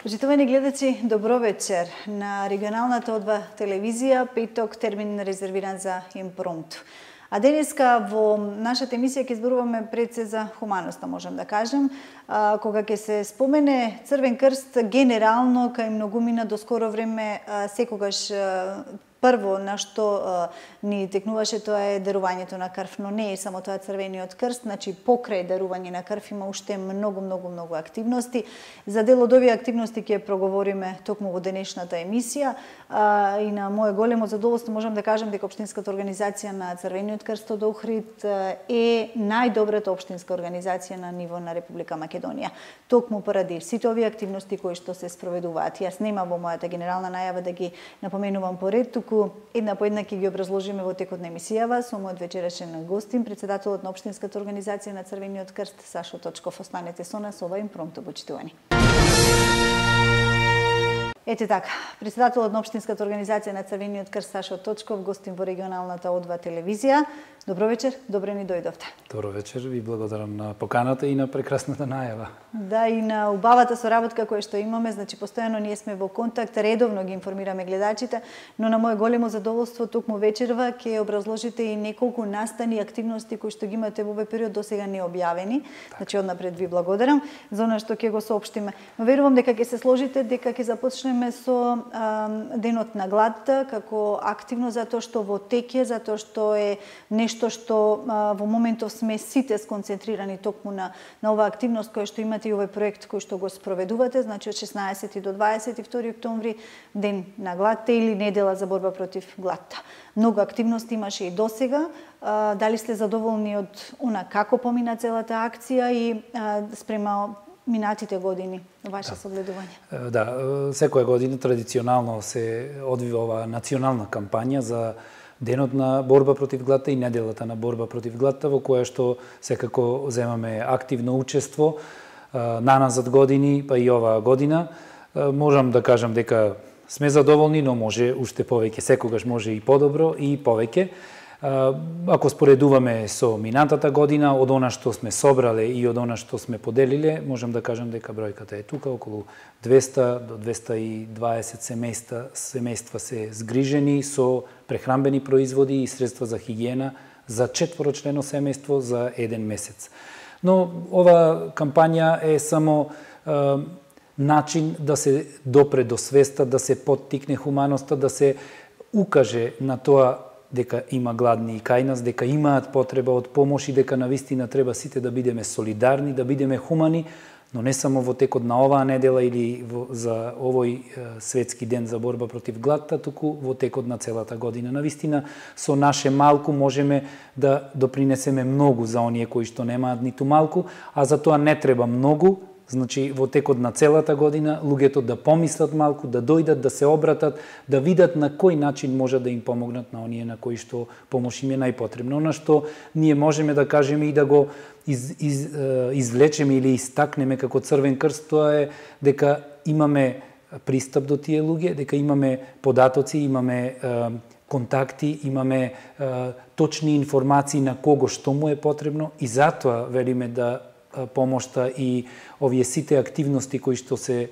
Почитувани гледачи, добро вечер. На регионалната одва телевизија, петок, термин резервиран за импромту. А денеска во нашата емисија ќе зборуваме пред се за хуманоста, можам да кажем, кога ќе се спомене Црвен крст генерално кај многумина до скоро време секогаш прво на што ни текнуваше тоа е дарувањето на крв, но не е само тоа Црвениот крст, значи покрај дарување на крв има уште многу активности. За дел од овие активности ќе проговориме токму во денешната емисија и на мое големо задоволство можам да кажам дека општинската организација на Црвениот крст од Охрид е најдобрата општинска организација на ниво на Република Македонија. Токму поради сите овие активности кои што се спроведуваат. Јас нема во мојата генерална најава да ги напоменувам поред, туку една по една ќе ги образложиме во текот на емисијава со мојот вечерашен гостин, председателот на општинската организација на Црвениот крст Сашо Точков. Останете со нас, ова импромту, почитувани. Ете така, председателот на општинската организација на Црвениот крст Сашо Точков, гостин во регионалната одва телевизија. Добро вечер, добре ни дојдовте. Добро вечер, ви благодарам на поканата и на прекрасната најава. Да, и на убавата соработка која што имаме, значи постојано ние сме во контакт, редовно ги информираме гледачите, но на мое големо задоволство токму вечерва ќе образложите и неколку настани активности кои што ги имате во овој период досега не објавени. Значи однапред ви благодарам за она што ќе го соопштиме. Но верувам дека ќе се сложите дека ќе започнеме со денот на гладта како активно затоа што во теќе, затоа што е нешто што во моментов сме сите сконцентрирани токму на оваа активност која што имате и овој проект кој што го спроведувате, значи од 16 до 22 октомври, ден на гладта или недела за борба против гладта. Многу активности имаше и досега. Дали сте задоволни од она како помина целата акција и спрема минатите години, ваше согледување? Да, секоја година традиционално се одвива оваа национална кампања за денот на борба против гладта и неделата на борба против гладта, во која што секако земаме активно учество наназад години, па и оваа година. Можам да кажам дека сме задоволни, но може уште повеќе, секогаш може и подобро и повеќе. Ако споредуваме со минатата година, од она што сме собрале и од она што сме поделиле, можам да кажам дека бројката е тука, околу 200 до 220 семејства се згрижени со прехранбени производи и средства за хигиена за 4-члено семејство за 1 месец. Но ова кампања е само начин да се допре до свеста, да се поттикне хуманоста, да се укаже на тоа дека има гладни и кај нас, дека имаат потреба од помош и дека навистина треба сите да бидеме солидарни, да бидеме хумани, но не само во текот на оваа недела или за овој светски ден за борба против гладта, туку во текот на целата година. Навистина, со наше малку можеме да допринесеме многу за оние кои што немаат ниту малку, а за тоа не треба многу. Значи, во текот на целата година, луѓето да помислат малку, да дојдат, да се обратат, да видат на кој начин може да им помогнат на оние на кои што помош им е најпотребно. Она што ние можеме да кажеме и да го извлечеме или истакнеме како Црвен крст, тоа е дека имаме пристап до тие луѓе, дека имаме податоци, имаме контакти, имаме точни информации на кого што му е потребно и затоа велиме да помошта и овие сите активности кои што се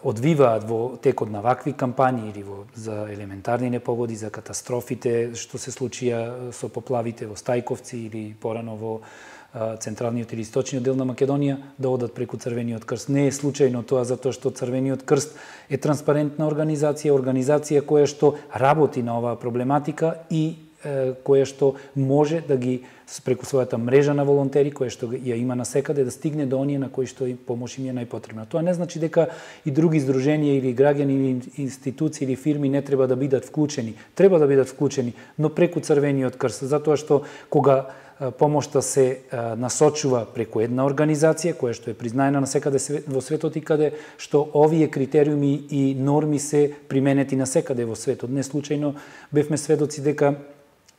одвиваат во текот на вакви кампањи или за елементарни непогоди, за катастрофите што се случија со поплавите во Стајковци или порано во централниот или источниот дел на Македонија, да одат преку Црвениот крст. Не е случајно тоа затоа што Црвениот крст е транспарентна организација која што работи на оваа проблематика и која што може да ги преку својата мрежа на волонтери, која што ја има насекаде, да стигне до оние на кои што им помош им е најпотребна. Тоа не значи дека и други здруженија или граѓани или институции или фирми не треба да бидат вклучени. Треба да бидат вклучени, но преку Црвениот крст, затоа што кога помошта се насочува преку една организација која што е признаена насекаде во светот и каде што овие критериуми и норми се применети насекаде во светот. Не случајно бевме сведоци дека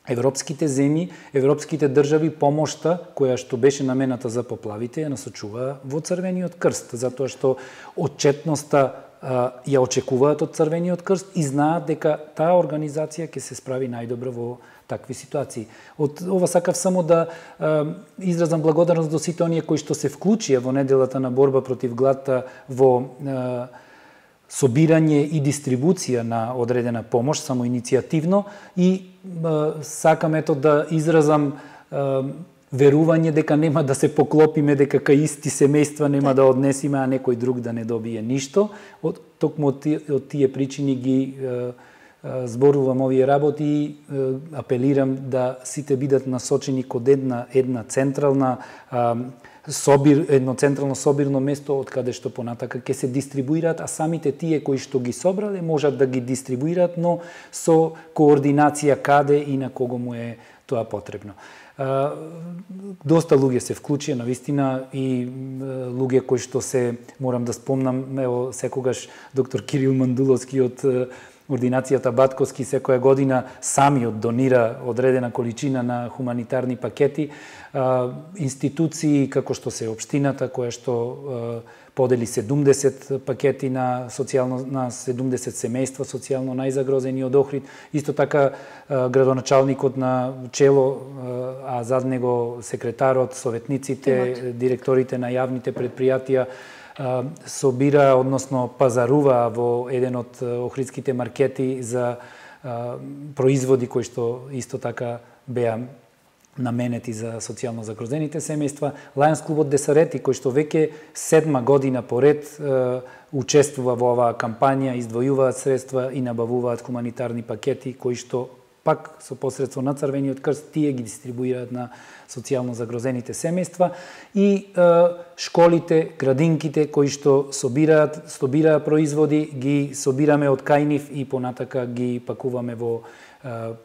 европските земји, европските држави помошта која што беше намената за поплавите ја насочува во Црвениот крст, затоа што отчетноста ја очекуваат од Црвениот крст и знаат дека таа организација ќе се справи најдобро во такви ситуации. Од ова сакав само да изразам благодарност до сите оние кои што се вклучија во неделата на борба против гладта во собирање и дистрибуција на одредена помош, самоиницијативно, и сакам ето да изразам верување дека нема да се поклопиме, дека кај исти семејства нема да однесиме, а некој друг да не добие ништо. Токму од тие причини ги зборувам овие работи и апелирам да сите бидат насочени код една централна едно централно собирно место од каде што понатака ќе се дистрибуираат, а самите тие кои што ги собрале можат да ги дистрибуираат, но со координација каде и на кого му е тоа потребно. Доста луѓе се вклучија навистина и луѓе кои што се, морам да спомнам, ево секогаш доктор Кирил Мандуловски од ординацијата Батковски секоја година самиот донира одредена количина на хуманитарни пакети. Институции како што се општината која што подели 70 пакети на 70 семејства социјално најзагрозени од Охрид. Исто така градоначалникот на чело, а зад него секретарот, советниците, директорите на јавните предпријатија собира, односно пазарува во еден од охридските маркети за производи кои што исто така беа наменети за социјално загрозените семејства. Лајонс клубот Десарети, кој што веќе 7 година поред учествува во оваа кампања, издвојуваат средства и набавуваат хуманитарни пакети кои што пак со посредство на Црвениот крст тие ги дистрибуираат на социјално загрозените семејства, и школите, градинките кои што собираат производи, ги собираме од кај нив и понатака ги пакуваме во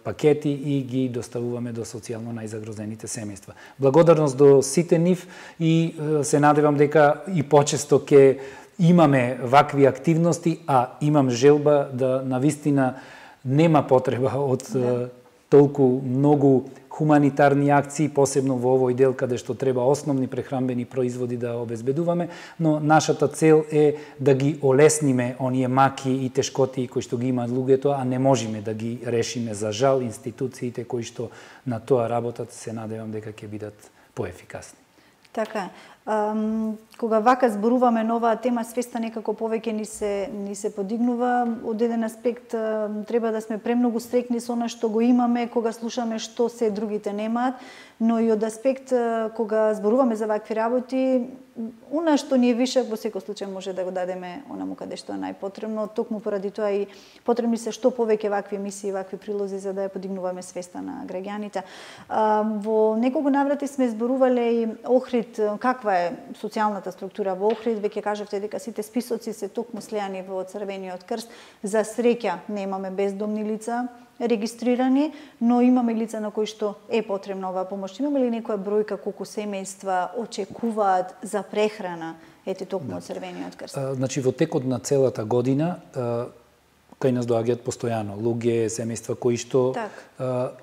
пакети и ги доставуваме до социјално најзагрозените семејства. Благодарност до сите нив и се надевам дека и почесто ќе имаме вакви активности, а имам желба да навистина нема потреба од толку многу хуманитарни акции, посебно во овој дел каде што треба основни прехранбени производи да обезбедуваме, но нашата цел е да ги олесниме оние маки и тешкоти кои што ги имаат луѓето, а не можеме да ги решиме. За жал, институциите кои што на тоа работат, се надевам дека ќе бидат поефикасни. Така, кога вака зборуваме на оваа тема, свеста некако повеќе ни се подигнува. Од еден аспект треба да сме премногу стрекни со она што го имаме, кога слушаме што се другите немаат, но и од аспект кога зборуваме за вакви работи, она што ни е вишак во секој случај може да го дадеме онаму каде што е најпотребно. Токму поради тоа и потребни се што повеќе вакви емисии, вакви прилози за да ја подигнуваме свеста на граѓаните. Во неколку наврати сме зборувале и Охрид, каква е социјалната структура во Охрид. Веќе кажавте дека сите списоци се токму слеани во Црвениот крст. За среќа немаме бездомни лица регистрирани, но имаме лица на кои што е потребна оваа помош. Имаме ли некоја бројка колку семејства очекуваат за прехрана токму од Црвениот крст? Значи во текот на целата година кај нас доаѓаат постојано луѓе, семејства кои што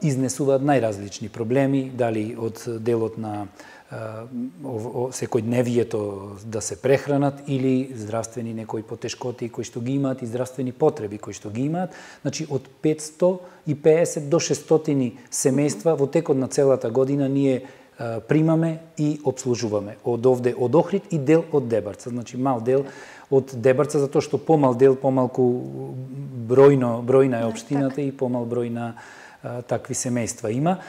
изнесуваат најразлични проблеми, дали од делот на секојдневието да се прехранат или здравствени некои потешкоти кои што ги имаат и здравствени потреби кои што ги имаат. Значи од 550 до 600 семејства во текот на целата година ние примаме и обслужуваме од овде од Охрид и дел од Дебарца. Значи мал дел од Дебарца затоа што помал дел, помалку бројна е општината и помал број на такви семејства има.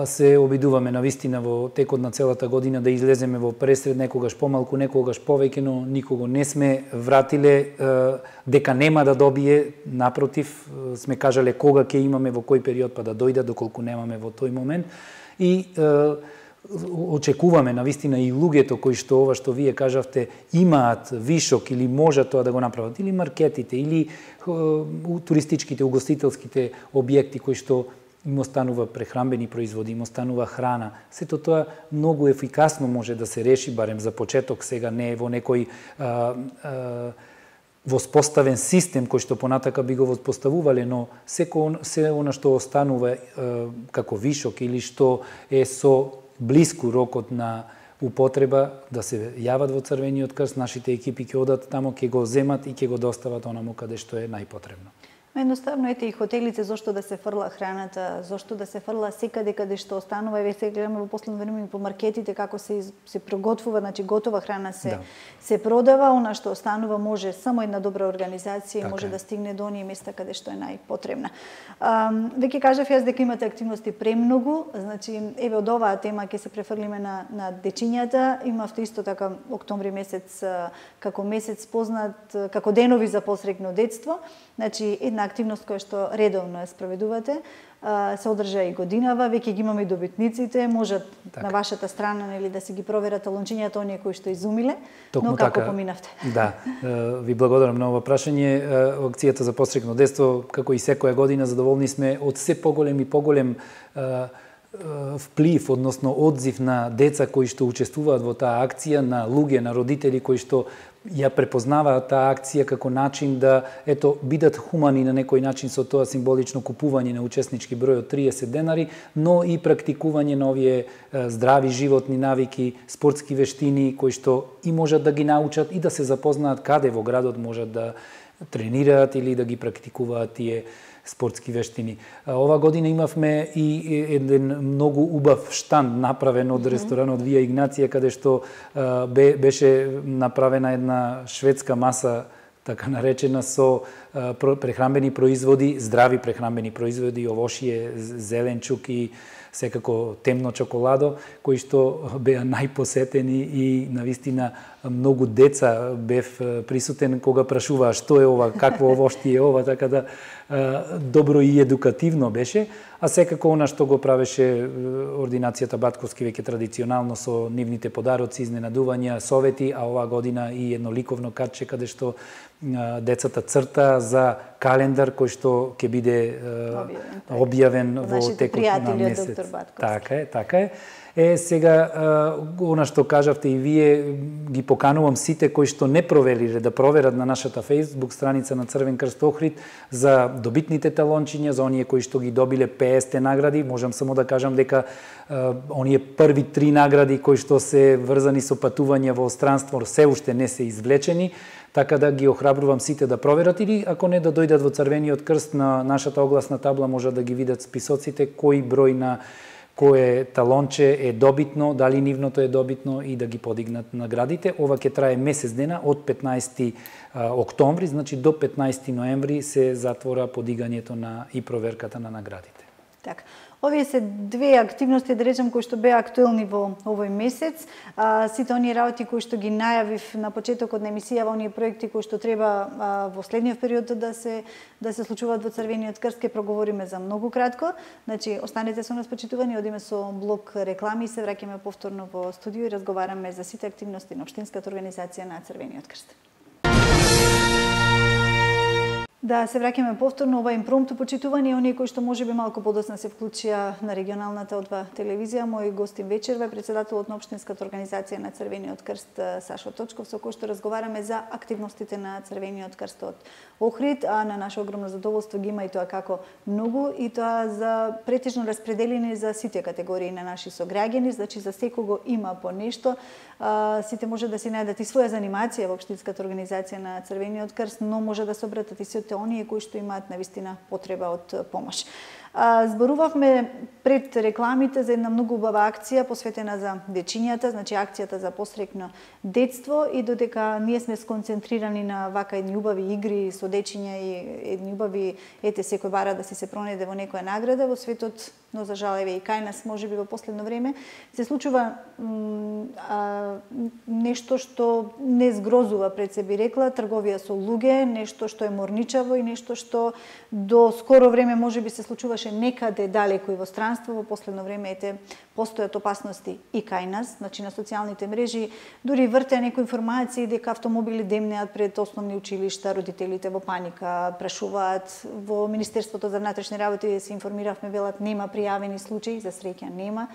Се обидуваме навистина во текот на целата година да излеземе во пресред, некогаш помалку, некогаш повеќе, но никого не сме вратиле дека нема да добие. Напротив, сме кажале кога ќе имаме, во кој период, па да дојдат, доколку немаме во тој момент. И очекуваме навистина и луѓето кои што ова што вие кажавте имаат вишок или можат тоа да го направат, или маркетите, или туристичките, угостителските објекти кои што им останува прехранбени производи, им останува храна. Сето тоа многу ефикасно може да се реши, барем за почеток, сега не е во некој воспоставен систем кој што понатака би го воспоставувале, но се она што останува како вишок или што е со блиску рокот на употреба да се јават во Црвениот крст, нашите екипи ќе одат тамо, ќе го земат и ќе го достават онаму каде што е најпотребно. Едноставно, ете и хотелите, зошто да се фрла храната, зошто да се фрла секаде каде што останува, и се гледаме во последно време по маркетите како се проготвува, значи готова храна се продава, она што останува може само една добра организација и може да стигне до оние места каде што е најпотребна. Веќе кажав јас дека имате активности премногу, значи еве од оваа тема ќе се префрлиме на дечињата. Имавте исто така октомври месец како месец познат како денови за посрекно детство, значи една активност која што редовно ја спроведувате, се одржа и годинава, веќе ги имаме и добитниците, можат на вашата страна нели да си ги проверат талончињата оние кои што изумиле, но како поминавте? Да, ви благодарам на ова прашање. Акцијата за посрекно детство, како и секоја година, задоволни сме од се поголем и поголем вплив, односно одзив на деца кои што учествуваат во таа акција, на луѓе, на родители кои што ја препознаваат таа акција како начин да бидат хумани на некој начин со тоа символично купување на учеснички број од 30 денари, но и практикување на овие здрави животни навики, спортски вештини кои што и можат да ги научат и да се запознаат каде во градот можат да тренираат или да ги практикуваат тие спортски вештини. Ова година имавме и еден многу убав штанд направен од ресторанот Вија Игнација, каде што беше направена една шведска маса, така наречена, со прехранбени производи, здрави прехранбени производи, овошје, зеленчук и секако темно чоколадо, кои што беа најпосетени и навистина многу деца бев присутен кога прашуваа што е ова, какво овошје е ова, така да добро и едукативно беше, а секако она што го правеше ординацијата Батковски веќе традиционално со нивните подароци, изненадувања, совети, а оваа година и едно ликовно картче каде што децата црта за календар кој што ќе биде објавен во текот на месец. Така е. Сега, она што кажавте и вие, ги поканувам сите кои што не провериле да проверат на нашата Facebook страница на Црвен крст Охрид за добитните талончиња, за оние кои што ги добиле 50 награди. Можам само да кажам дека оние први 3 награди кои што се врзани со патување во странство се уште не се извлечени, така да ги охрабрувам сите да проверат или ако не да дојдат во Црвениот крст на нашата огласна табла можат да ги видат списоците кој број на кое талонче е добитно, дали нивното е добитно и да ги подигнат наградите. Ова ќе трае месец дена од 15 октомври, значи до 15 ноември се затвора подигањето и проверката на наградите. Така. Овие се две активности, да речем, кои што беа актуелни во овој месец. Сите оние работи кои што ги најавив на почетокот на емисијава, оние проекти кои што треба во следниот период да се случуваат во Црвениот крст, ќе проговориме за многу кратко. Значи, останете со нас, почитувани, одиме со блок реклами и се враќаме повторно во студио и разговараме за сите активности на Општинската организација на Црвениот крст. Да се враќаме повторно, ова импромпту почитувани, оние кои што можеби малку подоцна се вклучија на регионалната одва телевизија. Мој гостин вечерва е председателот на Општинската организација на Црвениот крст Сашо Точков, со кој што разговараме за активностите на Црвениот крст од Охрид, а на наше огромно задоволство ги има и тоа како многу, и тоа за претежно распределени за сите категории на наши сограѓани, значи за секого има по нешто. Сите може да си најдат и своја занимација во Општинската организација на Црвениот крст, но може да се обратат и сите оние кои што имаат навистина потреба од помош. Зборувавме пред рекламите за една многу убава акција посветена за дечињата, значи акцијата за посрекно детство, и додека ние сме сконцентрирани на вака едни убави игри со дечиња и едни убави, ете, секој бара да си се пронајде во некоја награда во светот, но за жал еве и кај нас можеби во последно време се случува нешто што не згрозува, пред се би рекла, трговија со луѓе, нешто што е морничаво и нешто што до скоро време можеби се случуваше некаде далеко и во странство. Во последно време ете постојат опасности и кај нас, значи на социјалните мрежи дури вртеа некои информации дека автомобили демнеат пред основни училишта, родителите во паника прашуваат. Во Министерството за внатрешни работи се информиравме, велат нема пријавени случаи, за среќа нема,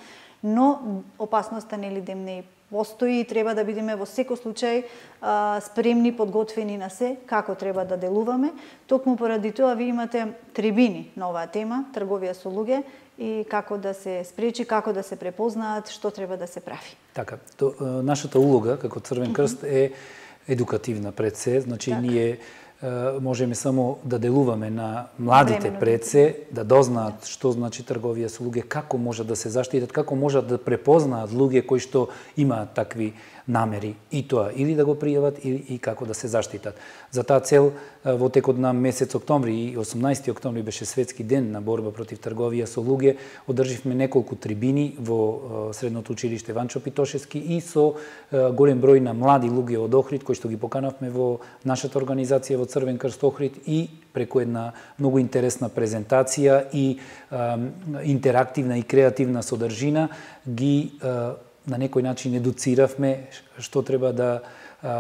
но опасноста нели демне и постои и треба да бидеме во секој случај спремни, подготвени на се, како треба да делуваме. Токму поради тоа ви имате трибини на оваа тема, трговија со луѓе, и како да се спречи, како да се препознаат, што треба да се прави. Така, нашата улога како Црвен крст е едукативна пред се, значи ние можеме само да делуваме на младите пред се, да дознаат што значи трговија со луѓе, како можат да се заштитат, како можат да препознаат луѓе кои што имаат такви намери и тоа или да го пријават и како да се заштитат. За таа цел во текот на месец октомври и 18 октомври беше светски ден на борба против трговија со луѓе, одрживме неколку трибини во средното училиште Ванчо Питошевски и со голем број на млади луѓе од Охрид кои што ги поканавме во нашата организација во Црвен крст Охрид и преку една многу интересна презентација и интерактивна и креативна содржина ги на некој начин едуциравме што треба да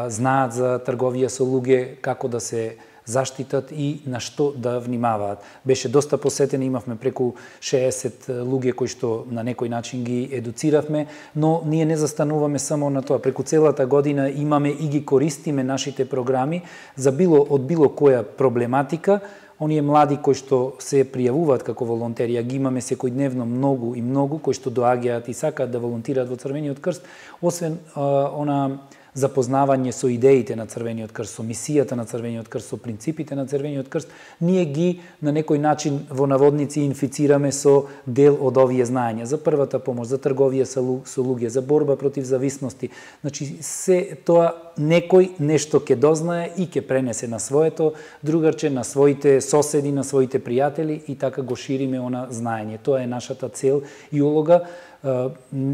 знаат за трговија со луѓе, како да се заштитат и на што да внимаваат. Беше доста посетени, имавме преку 60 луѓе кои што на некој начин ги едуциравме, но ние не застануваме само на тоа. Преку целата година имаме и ги користиме нашите програми за од било која проблематика. Оние млади кои што се пријавуваат како волонтери, ги имаме секојдневно многу и многу кои што доаѓаат и сакаат да волонтираат во Црвениот крст, освен она запознавање со идеите на Црвениот крст, со мисијата на Црвениот крст, со принципите на Црвениот крст, ние ги на некој начин во наводници инфицираме со дел од овие знаења за првата помош, за трговија со луѓе, за борба против зависности. Значи се тоа некој нешто ќе дознае и ќе пренесе на своето другарче, на своите соседи, на своите пријатели и така го шириме она знаење. Тоа е нашата цел и улога.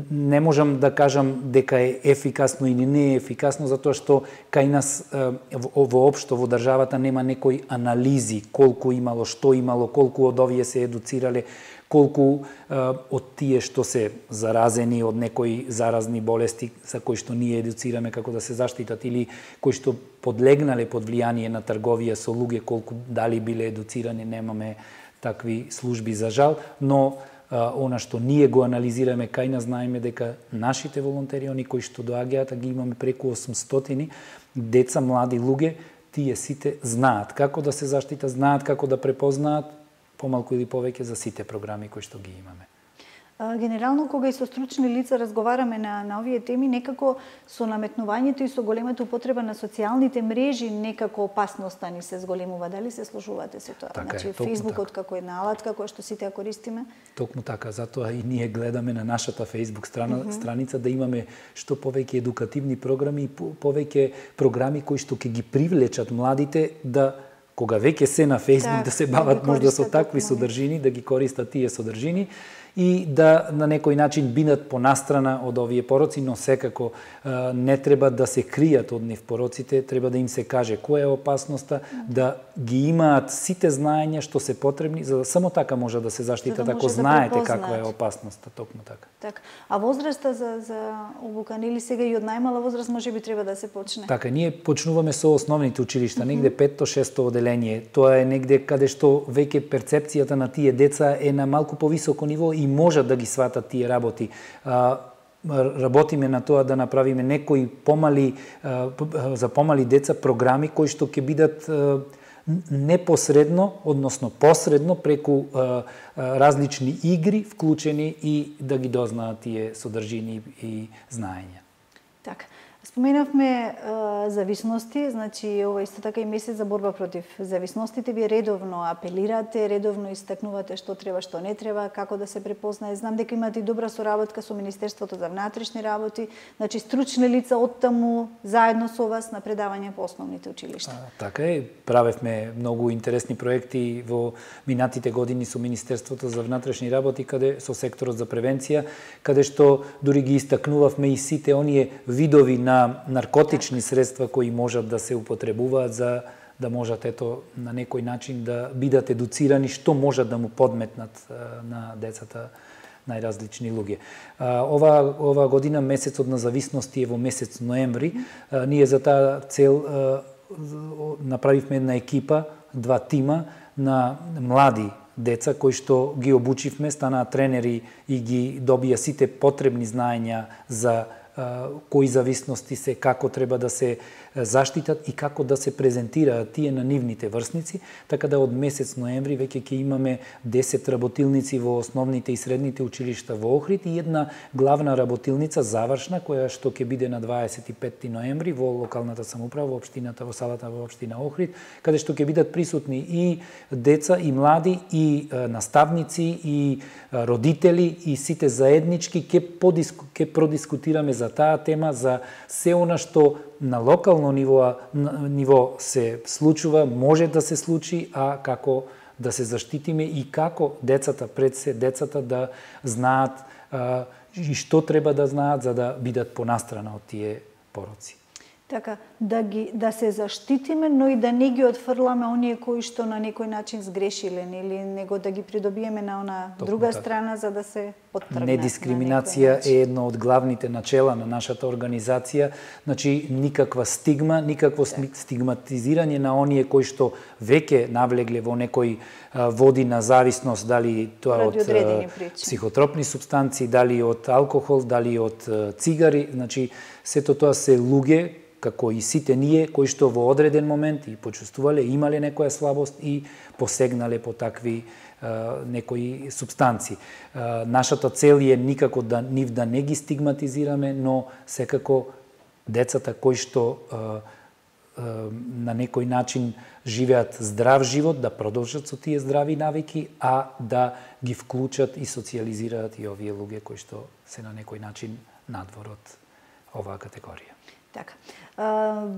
Не можам да кажам дека е ефикасно или не е ефикасно, затоа што кај нас воопшто во државата нема некои анализи колку имало, што имало, колку од овие се едуцирале, колку од тие што се заразени од некои заразни болести за кои што ние едуцираме како да се заштитат или кои што подлегнале под влијание на трговија со луѓе, колку дали биле едуцирани, немаме такви служби за жал, но она што ние го анализираме кај нас, знаеме дека нашите волонтери, они кои што доаѓаат, ги имаме преку 800 деца, млади луѓе, тие сите знаат како да се заштитат, знаат како да препознаат, помалку или повеќе за сите програми кои што ги имаме. Генерално, кога и со стручни лица разговараме на овие теми, некако со наметнувањето и со големата употреба на социјалните мрежи, некако опасноста ни се зголемува. Дали се служувате со тоа? Така значи, Фејсбукот како една алатка која што сите ја користиме? Токму така, затоа и ние гледаме на нашата Фејсбук страница да имаме што повеќе едукативни програми и повеќе програми кои што ќе ги привлечат младите да кога веќе се на Фејсбук да се бават можда со такви содржини, да ги користат тие содржини и да на некој начин бидат понастрана од овие пороци, но секако не треба да се кријат од нив пороците, треба да им се каже која е опасноста, да ги имаат сите знаења што се потребни, за да само така може да се заштитат ако знаете каква е опасноста, токму така. Така. А возраста за обука, нели сега и од најмала возраст можеби треба да се почне? Така, ние почнуваме со основните училишта, негде 5-6 оделение. Тоа е негде каде што веќе перцепцијата на тие деца е на малку повисоко ниво и можат да ги сватат тие работи. Работиме на тоа да направиме некои за помали деца програми кои што ќе бидат непосредно, односно посредно преку различни игри вклучени и да ги дознаат тие содржини и знаења. Така. Споменавме зависности, значи ова исто така и месец за борба против зависностите. Вие редовно апелирате, редовно истакнувате што треба, што не треба, како да се препознае. Знам дека имате и добра соработка со Министерството за внатрешни работи, значи стручни лица оттаму заедно со вас на предавање по основните училишта. Така е, правевме многу интересни проекти во минатите години со Министерството за внатрешни работи, каде со секторот за превенција, каде што дури ги истакнувавме и сите оние видови на наркотични средства кои можат да се употребуваат за да можат на некој начин да бидат едуцирани што можат да му подметнат на децата најразлични луѓе. Ова година месецот на зависности е во месец ноември. Ние за таа цел направивме една екипа, 2 тима на млади деца кои што ги обучивме, станаа тренери и ги добија сите потребни знаења за кои зависности се, како треба да се заштитат и како да се презентираат тие на нивните врсници, така да од месец ноември веќе ќе имаме 10 работилници во основните и средните училишта во Охрид и една главна работилница завршна која што ќе биде на 25 ноември во локалната самоуправа во општината, во салата во општина Охрид, каде што ќе бидат присутни и деца и млади и наставници и родители и сите заеднички ќе продискутираме за таа тема, за се она што на локално ниво се случува, може да се случи, а како да се заштитиме и како децата пред се, децата да знаат и што треба да знаат за да бидат понастрана од тие пороци. Така, да се заштитиме, но и да не ги отфрламе оние кои што на некој начин сгрешиле, или него да ги придобиеме на она друга страна за да се поттргнат. Недискриминација е едно од главните начела на нашата организација, значи никаква стигма, никакво стигматизирање на оние кои што веќе навлегле во некој води на зависност, дали тоа од психотропни супстанции, дали од алкохол, дали од цигари, значи сето тоа се луѓе како и сите ние кои што во одреден момент и почувствувале, имале некоја слабост и посегнале по такви некои субстанции. Нашата цел е никако да нив да не ги стигматизираме, но секако децата кои што на некој начин живеат здрав живот, да продолжат со тие здрави навики, а да ги вклучат и социализираат и овие луѓе кои што се на некој начин надвор од оваа категорија. Така.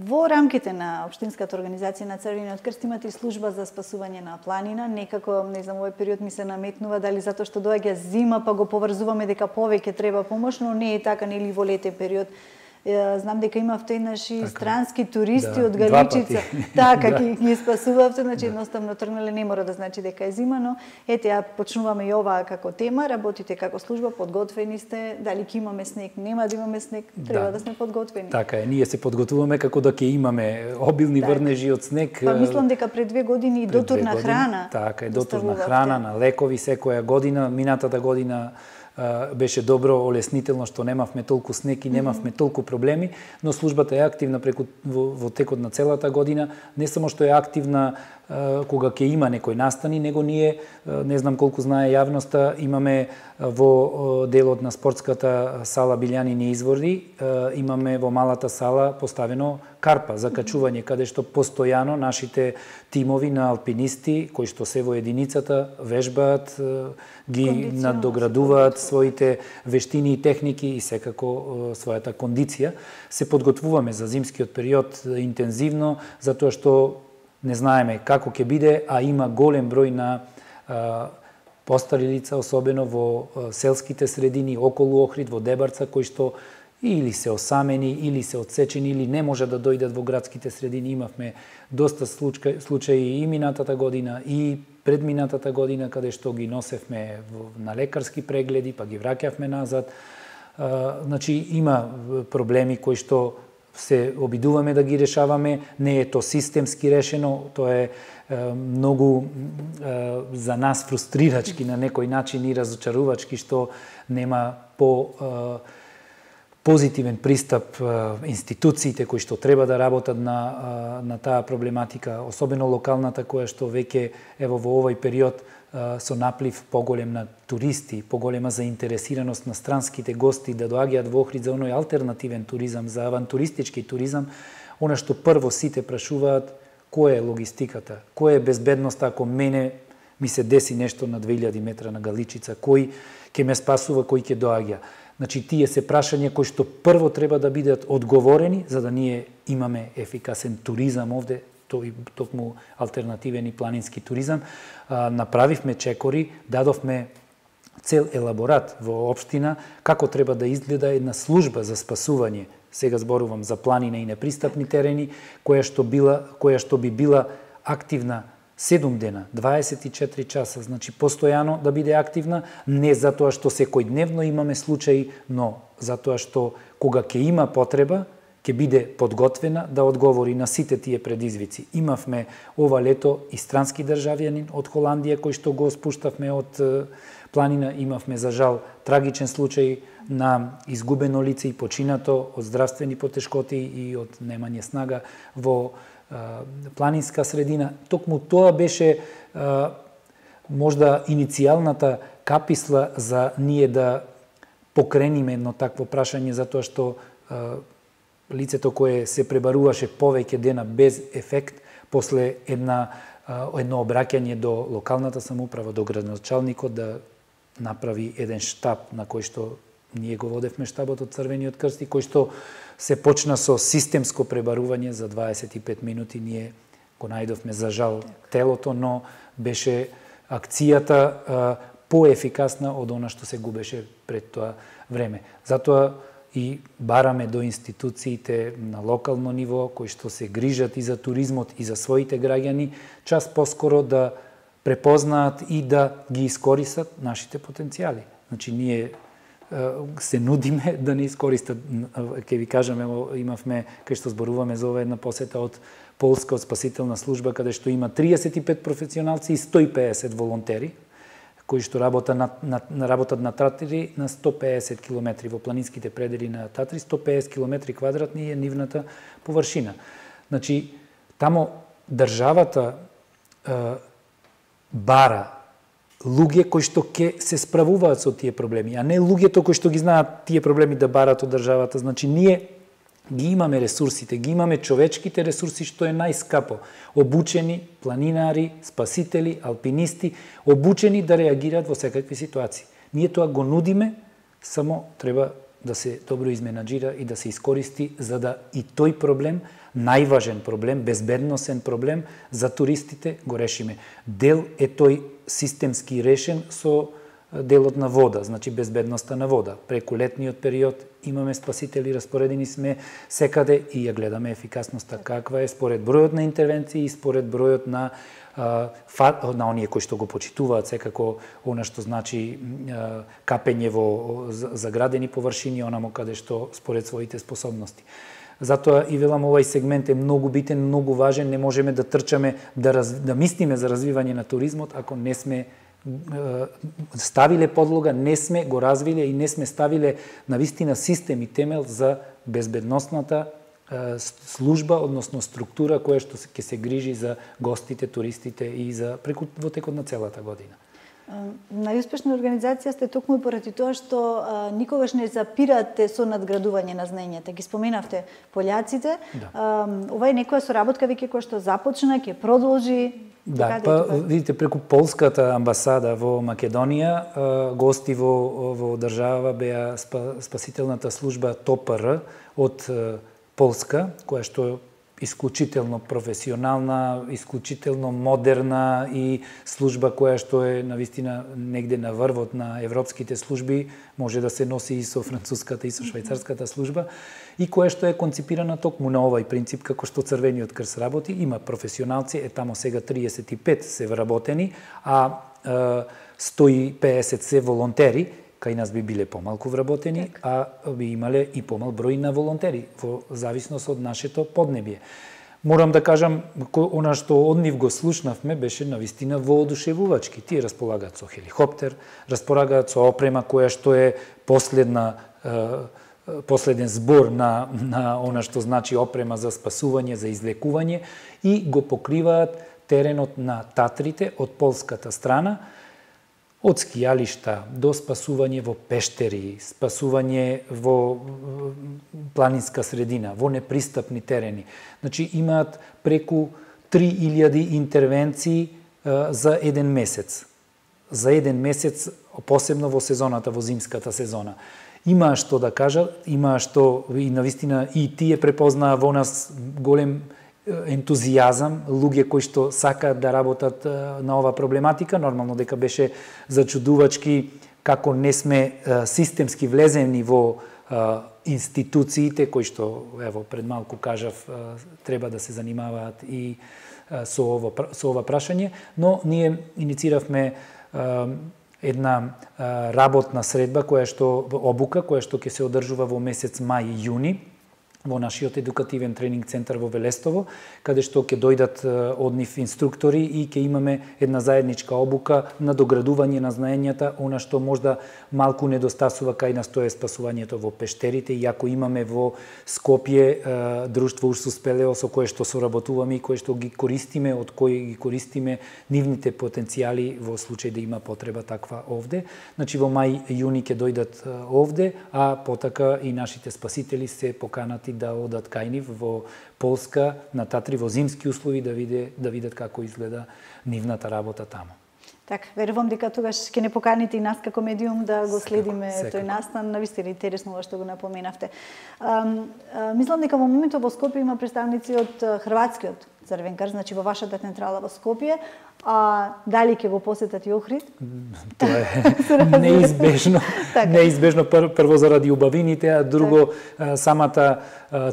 Во рамките на Општинската организација на Црвениот крст имате и служба за спасување на планина. Некако, не знам, овој период ми се наметнува дали затоа што доаѓа зима па го поврзуваме дека повеќе треба помош, но не е така, нели во летен период. Знам дека имавте еднаш и странски туристи од Галичица. Така, ги спасувавте, значи едноставно тргнале, не мора да значи дека е зима, но ете, ја почнуваме и оваа како тема, работите како служба, подготвени сте, дали ќе имаме снег, нема да имаме снег, треба да сме подготвени. Така е, ние се подготвуваме како да ќе имаме обилни врнежи од снег. Па мислам дека пред 2 години и дотурна храна. Така е, дотурна храна на лекови секоја година, минатата година беше добро, олеснително што немавме толку снег и немавме толку проблеми, но службата е активна во текот на целата година, не само што е активна кога ќе има некој настани, него ние, не знам колку знае јавноста, имаме во делот на спортската сала Билјанини изворди, имаме во малата сала поставено карпа за качување, каде што постојано нашите тимови на алпинисти, кои што се во единицата, вежбаат, ги надоградуваат своите вештини и техники и секако својата кондиција. Се подготвуваме за зимскиот период интензивно, затоа што не знаеме како ќе биде, а има голем број на постари лица, особено во селските средини, околу Охрид, во Дебарца, кои што или се осамени, или се одсечени, или не може да дојдат во градските средини. Имавме доста случаи и минатата година, и предминатата година, каде што ги носевме на лекарски прегледи, па ги враќавме назад. Значи, има проблеми кои што се обидуваме да ги решаваме, не е то системски решено, тоа е многу за нас фрустрирачки на некој начин и разочарувачки што нема позитивен пристап институциите кои што треба да работат на таа проблематика, особено локалната која што веќе ево во овој период со наплив поголем на туристи, поголема заинтересираност на странските гости да доаѓаат во Охрид за оној алтернативен туризам, за авантуристички туризам, она што прво сите прашуваат која е логистиката, која е безбедноста ако мене ми се деси нешто на 2000 метра на Галичица, кој ќе ме спасува, кој ќе доаѓа. Значи, тие се прашања кои што прво треба да бидат одговорени, за да ние имаме ефикасен туризам овде, тој токму алтернативен и планински туризам. Направивме чекори, дадовме цел елаборат во општина како треба да изгледа една служба за спасување. Сега зборувам за планина и непристапни терени, која што би била активна 7 дена, 24 часа, значи постојано да биде активна, не затоа што секојдневно имаме случаи, но затоа што кога ќе има потреба, ќе биде подготвена да одговори на сите тие предизвици. Имавме ова лето и странски државјанин од Холандија кој што го спуштавме од планина. Имавме за жал трагичен случај на изгубено лице и починато од здравствени потешкоти и од немање снага во планинска средина. Токму тоа беше можда иницијалната каписла за ние да покрениме едно такво прашање, затоа што лицето кое се пребаруваше повеќе дена без ефект, после едно обраќање до локалната самоуправа, до градоначалникот да направи еден штаб на кој што ние го водевме штабот од Црвениот крст и кој што се почна со системско пребарување за 25 минути. Ние го најдовме за жал телото, но беше акцијата поефикасна од она што се губеше пред тоа време. Затоа и бараме до институциите на локално ниво, кои што се грижат и за туризмот и за своите граѓани, час поскоро да препознаат и да ги искористат нашите потенцијали. Значи, ние се нудиме да не искористат. Ке ви кажеме, имавме, кај што зборуваме за ова една посета од Полска, од спасителна служба, каде што има 35 професионалци и 150 волонтери, кои што работат на Татри на 150 км во планинските предели на Татри, 150 км квадратни е нивната површина. Значи, тамо државата бара луѓе кои што ќе се справуваат со тие проблеми, а не луѓето кои што ги знаат тие проблеми да барат од државата. Значи, ние ги имаме ресурсите, ги имаме човечките ресурси, што е најскапо. Обучени планинари, спасители, алпинисти, обучени да реагираат во секакви ситуации. Ние тоа го нудиме, само треба да се добро изменаџира и да се искористи за да и тој проблем, најважен проблем, безбедносен проблем за туристите го решиме. Дел е тој системски решен со делот на вода, значи безбедноста на вода. Преку летниот период имаме спасители, распоредени сме секаде и ја гледаме ефикасноста каква е според бројот на интервенции и според бројот на оние кои што го почитуваат секако она што значи капење во заградени површини, онамо каде што според своите способности. Затоа и велам, овај сегмент е многу битен, многу важен, не можеме да трчаме да мислиме за развивање на туризмот ако не сме ставиле подлога, не сме го развиле и не сме ставиле навистина систем и темел за безбедносната служба, односно структура која што ќе се грижи за гостите, туристите и за во текот на целата година. Најуспешна организација сте токму поради тоа што никогаш не запирате со надградување на знаењата. Ги споменавте пољаците. Да. Ова е некоја соработка веќе која што започна, ќе продолжи. Да, видите, преку полската амбасада во Македонија, гости во држава беа спасителната служба ТОПР од Полска, која што е исклучително професионална, исклучително модерна и служба која што е навистина негде на врвот на европските служби, може да се носи и со француската и со швајцарската служба, и која што е конципирана токму на овај принцип како што Црвениот крст работи. Има професионалци, тамо сега 35 се вработени, а 150 се волонтери. Кај нас би биле помалку вработени, а би имале и помал број на волонтери, во зависност од нашето поднебие. Морам да кажам, она што од нив го слушнавме беше навистина воодушевувачки. Тие располагаат со хеликоптер, располагаат со опрема која што е последен збор на она што значи опрема за спасување, за излекување, и го покриваат теренот на Татрите од полската страна, од скијалишта до спасување во пештери, спасување во планинска средина, во непристапни терени. Значи, имаат преку 3000 интервенции за еден месец. За еден месец, посебно во сезоната, во зимската сезона. Имаа што да кажат, имаа што и навистина и тие препознаа во нас голем ентузијазам, луѓе кои што сакаат да работат на ова проблематика. Нормално дека беше зачудувачки како не сме системски влезени во институциите кои што, ево, пред малку кажав, треба да се занимаваат и со ова прашање, но ние иницииравме една работна средба, обука, која што ќе се одржува во месец мај и јуни, во нашиот едукативен тренинг центар во Велестово, каде што ќе дојдат од нив инструктори и ќе имаме една заедничка обука на доградување на знаењата, она што можда малку недостасува кај нас, тоа е спасувањето во пештерите, иако имаме во Скопје друштво Урсус Пелео со кое што соработуваме и кое што ги користиме, од кои ги користиме нивните потенцијали во случај да има потреба таква овде. Значи во мај јуни ќе дојдат овде, а потака и нашите спасители се поканати да одат кај нив во Полска, на Татри, во зимски услови, да видат како изгледа нивната работа таму. Така, верувам дека тогаш ќе не поканите и нас како медиум да го следиме тој настан. Навистина интересно ова што го напоменавте. Мислам дека во моментот во Скопје има представници од Хрватскиот Црвен крст, значи во вашата централа во Скопје. Дали ќе го посетат и Охрид? Тоа е неизбежно. Неизбежно прво заради убавините, а друго самата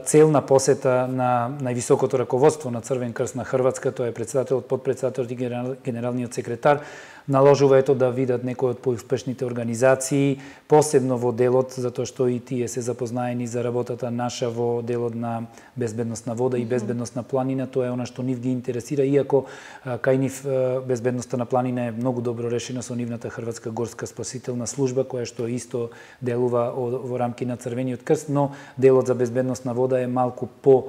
цел на посета на највисокото раководство на Црвен крст на Хрватска, тоа е председателот, подпредседателот и генералниот секретар, наложува ето да видат некои од поуспешните организации, посебно во делот, затоа што и тие се запознаени за работата наша во делот на безбедност на вода и безбедност на планина. Тоа е она што нив ги интересира, иако кај нив безбедноста на планина е многу добро решена со нивната Хрватска горска спасителна служба, која што исто делува во рамки на Црвениот крст, но делот за безбедност на вода е малку по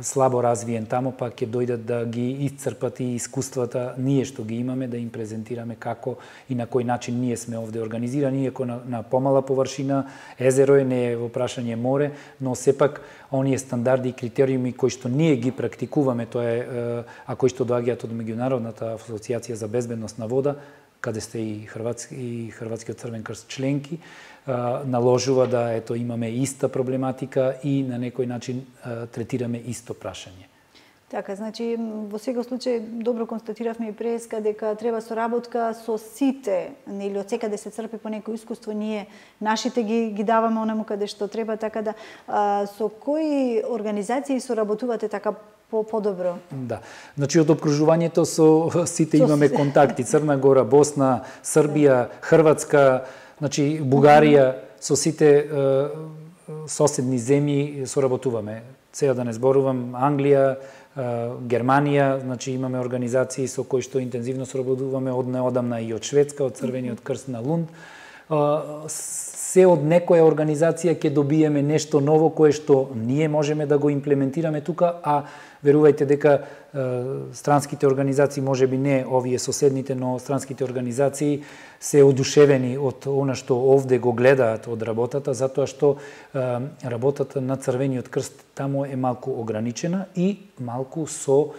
слабо развиен таму, па ќе дојдат да ги исцрпат и искуствата ние што ги имаме, да им презентираме како и на кој начин ние сме овде организирани, иако на помала површина, езеро е, не е во прашање море, но сепак оние стандарди и критериуми кои што ние ги практикуваме, тоа е, а кои што доаѓаат од Меѓународната асоциација за безбедност на вода, каде сте и Хрватскиот Црвен крст членки, наложува да ето имаме иста проблематика и на некој начин третираме исто прашање. Така, значи во секој случај добро констатиравме и преска дека треба соработка со сите, нели од секаде се црпи по некој искуство, ние нашите ги даваме онаму каде што треба, така да со кои организации соработувате така подобро? Да. Значи од опкружувањето со сите имаме контакти. Црна Гора, Босна, Србија, Хрватска, значи Бугарија, со сите соседни земји соработуваме. Сега да не зборувам, Англија, Германија, значи имаме организации со кои што интензивно соработуваме од неодамна и од Шведска, од Црвениот крст на Лунд. Се од некоја организација ќе добиеме нешто ново кое што ние можеме да го имплементираме тука, а верувајте дека странските организации, можеби не овие соседните, но странските организации се одушевени од она што овде го гледаат од работата, затоа што работата на Црвениот крст таму е малку ограничена и малку со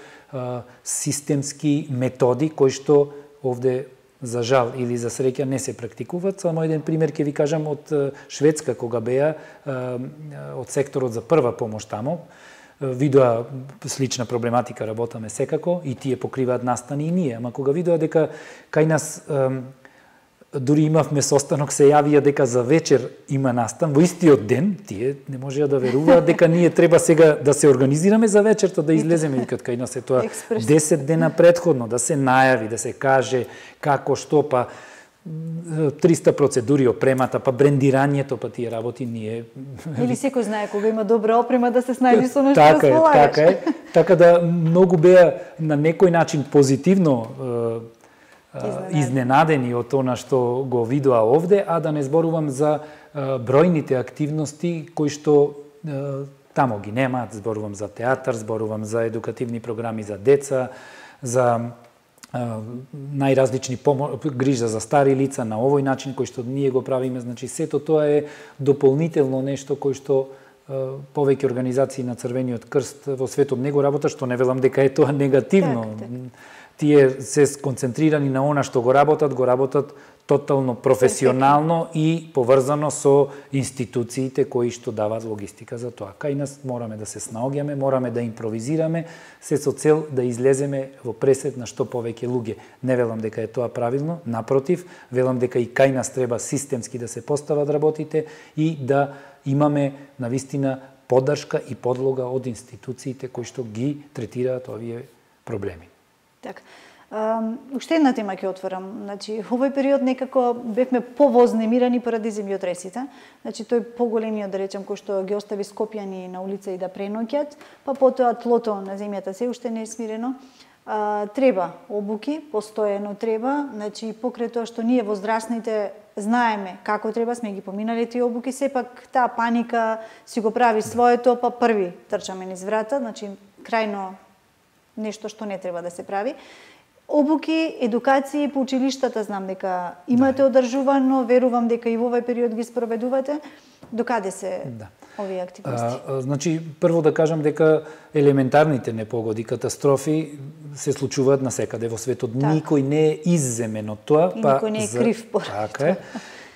системски методи кои што овде за жал или за среќа не се практикуваат. Само еден пример ќе ви кажам од Шведска, кога беа од секторот за прва помош таму, видоа слична проблематика, работаме секако и тие покриваат настани и ние, ама кога видоа дека кај нас дури имавме состанок, се јавија дека за вечер има настан, во истиот ден, тие не можеа да веруваат дека ние треба сега да се организираме за вечерта, да излеземе, викат кај нас е тоа 10 дена предходно, да се најави, да се каже како, што, па 300 процедури, опремата, па брендирањето, па тие работи ние... Или секој знае кога има добра опрема да се снајди со нешто да сполагаш. Така е. Така да многу беа на некој начин позитивно изненадени од она што го видоа овде, а да не зборувам за бројните активности кои што тамо ги немаат. Зборувам за театар, зборувам за едукативни програми за деца, за најразлични грижа за стари лица на овој начин кој што ние го правиме. Значи сето тоа е дополнително нешто кој што повеќе организации на Црвениот крст во светот не го работат, што не велам дека е тоа негативно. Тие се сконцентрирани на она што го работат тотално професионално и поврзано со институциите кои што даваат логистика за тоа. Кај нас мораме да се снаоѓаме, мораме да импровизираме, се со цел да излеземе во пресет на што повеќе луѓе. Не велам дека е тоа правилно, напротив, велам дека и кај нас треба системски да се постават работите и да имаме навистина поддршка и подлога од институциите кои што ги третираат овие проблеми. Така. Уште една тема ќе отворам. Значи, овој период некако бевме повознемирани поради земјотресите. Значи, тој поголемиот, да речем, кој што ги остави Скопјани на улица и да преноќат, па потоа тлото на земјата се уште не е смирено. Треба обуки, постојано треба, значи покрај тоа што ние возрастните знаеме како треба, сме ги поминали тие обуки, сепак таа паника си го прави своето, па први трчаме низ врата, значи крајно нешто што не треба да се прави. Обуки, едукации по училиштата знам дека имате одржувано, верувам дека и во овој период ги спроведувате. Докаде се овие активности? Значи, прво да кажам дека елементарните непогоди, катастрофи се случуваат насекаде во светот. Никој не е изземен од тоа. И никој не е крив поради тоа. Така е.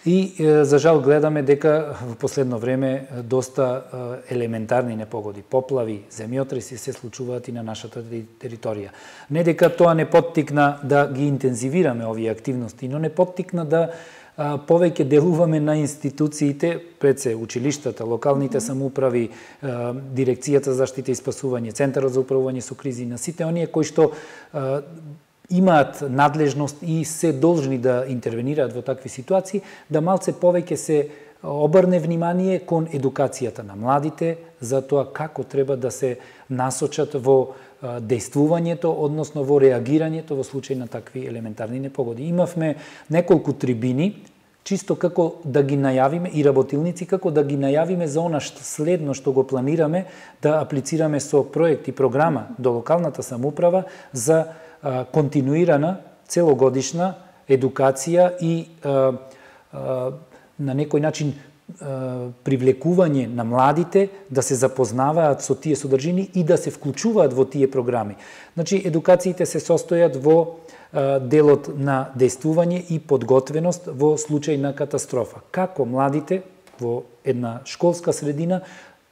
И за жал гледаме дека во последно време доста елементарни непогоди, поплави, земјотреси се случуваат и на нашата територија. Не дека тоа не поттикна да ги интензивираме овие активности, но не поттикна да повеќе делуваме на институциите, пред се училиштата, локалните самоуправи, Дирекцијата за заштита и спасување, Центарот за управување со кризи, на сите оние кои што имаат надлежност и се должни да интервенираат во такви ситуации, да малце повеќе се обрне внимание кон едукацијата на младите за тоа како треба да се насочат во дејствувањето, односно во реагирањето во случај на такви елементарни непогоди. Имавме неколку трибини, чисто како да ги најавиме, и работилници како да ги најавиме за она следно што го планираме да аплицираме со проект и програма до локалната самоуправа за континуирана, целогодишна едукација и на некој начин привлекување на младите да се запознаваат со тие содржини и да се вклучуваат во тие програми. Значи, едукациите се состојат во делот на дејствување и подготвеност во случај на катастрофа. Како младите во една школска средина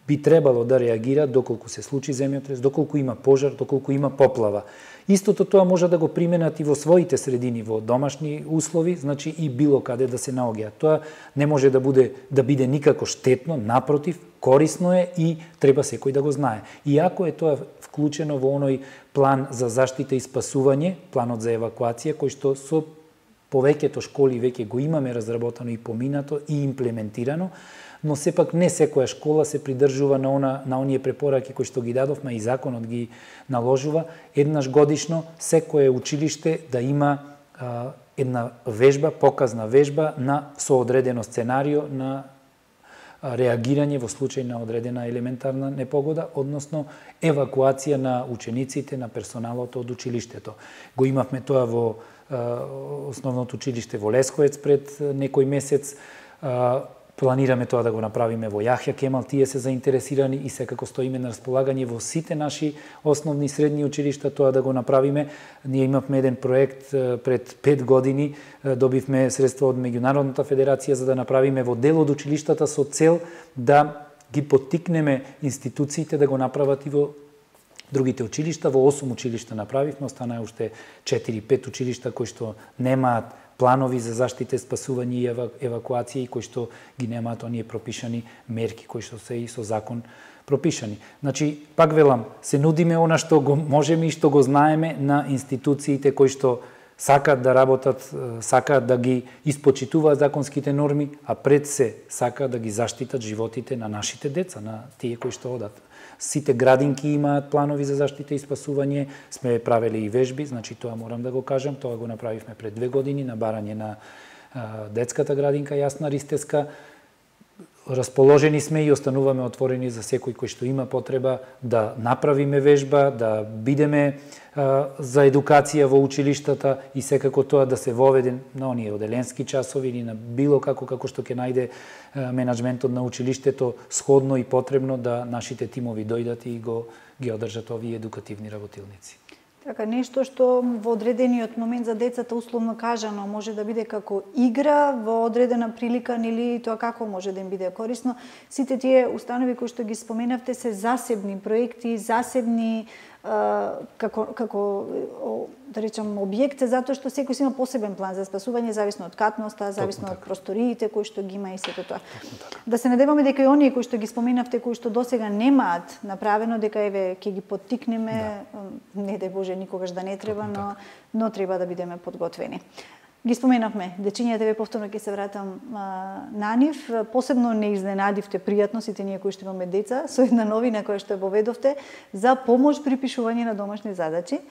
би требало да реагираат доколку се случи земјотрес, доколку има пожар, доколку има поплава. Истото тоа може да го применат и во своите средини, во домашни услови, значи и било каде да се наоѓаат. Тоа не може да биде никако штетно, напротив, корисно е и треба секој да го знае. Иако е тоа вклучено во оној план за заштита и спасување, планот за евакуација, кој што со повеќето школи веќе го имаме разработено и поминато и имплементирано, но сепак не секоја школа се придржува на оние препораки кои што ги дадовме и законот ги наложува еднаш годишно секое училиште да има една вежба, показна вежба на соодредено сценарио на реагирање во случај на одредена елементарна непогода, односно евакуација на учениците, на персоналот од училиштето. Го имавме тоа во основното училиште во Лесковец пред некој месец. Планираме тоа да го направиме во Јахја Кемал, тие се заинтересирани и секако стоиме на располагање во сите наши основни и средни училишта тоа да го направиме. Ние имавме еден проект пред 5 години, добивме средства од Меѓународната федерација за да направиме во дел од училиштата со цел да ги поттикнеме институциите да го направат и во другите училишта. Во 8 училишта направивме, останаа уште 4-5 училишта кои што немаат планови за заштита, спасување и евакуација и кои што ги немаат оние пропишани мерки кои што се и со закон пропишани. Значи, пак велам, се нудиме она што го можеме и што го знаеме на институциите кои што сакаат да работат, сакаат да ги испочитуваат законските норми, а пред се сакаат да ги заштитат животите на нашите деца, на тие кои што одат. Сите градинки имаат планови за заштита и спасување, сме правели и вежби, значи тоа морам да го кажам, тоа го направивме пред 2 години на барање на детската градинка Јасна Ристеска. Расположени сме и остануваме отворени за секој кој што има потреба да направиме вежба, да бидеме за едукација во училиштата и секако тоа да се воведе на оние оделенски часови или на било како што ќе најде менаџментот на училиштето сходно и потребно да нашите тимови дојдат и ги одржат овие едукативни работилници. Така, нешто што во одредениот момент за децата, условно кажано, може да биде како игра во одредена прилика, или тоа како може да им биде корисно. Сите тие установи кои што ги споменавте се засебни проекти, засебни како да речам објект, затоа што секој си има посебен план за спасување, зависно од катноста, зависно од просториите кои што ги има и сето тоа. Да се надеваме дека и оние кои што ги споменавте, кои што досега немаат направено, дека еве ќе ги поттикнеме, не дај Боже никогаш да не треба, но треба да бидеме подготвени. Ги споменавме дечињата, ве повторно ќе се вратам на нив. Посебно не изненадивте пријатно сите ние кои што имаме деца со една новина која што ја поведовте за помош при пишување на домашни задачи.